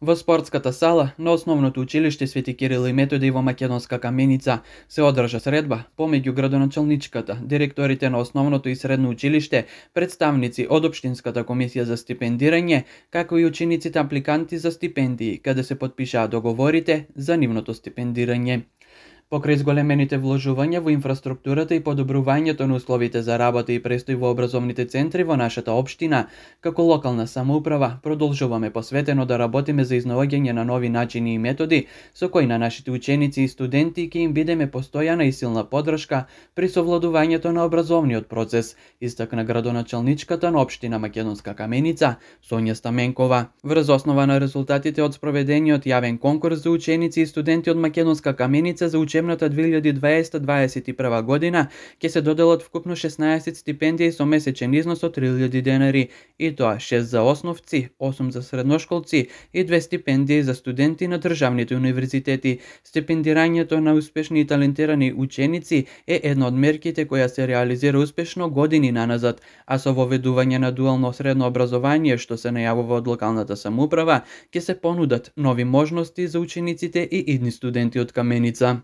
Во спортската сала на Основното училиште Свети Кирил и Методи во Македонска Каменица се одржа средба помеѓу градоначалничката, директорите на Основното и Средно училиште, представници од Општинската комисија за стипендирање, како и учениците апликанти за стипендии, каде се потпишаа договорите за нивното стипендирање. Покрај зголемените вложувања во инфраструктурата и подобрувањето на условите за работа и престој во образовните центри во нашата општина, како локална самоуправа, продолжуваме посветено да работиме за изнаоѓање на нови начини и методи со кои на нашите ученици и студенти ќе им бидеме постојана и силна поддршка при совладувањето на образовниот процес, истакна градоначалничката на општина Македонска Каменица, Сонја Стаменкова. Врз основа на резултатите од спроведениот јавен конкурс за ученици и студенти од Македонска Каменица за учебната 2020-2021 година ќе се доделат вкупно 16 стипендии со месечен износ од 3000 денари, и тоа 6 за основци, 8 за средношколци и 2 стипендии за студенти на државните универзитети. Стипендирањето на успешни и талентирани ученици е една од мерките која се реализира успешно години наназад, а со воведување на дуално средно образование што се најавува од локалната самоуправа, ќе се понудат нови можности за учениците и идни студенти од Каменица.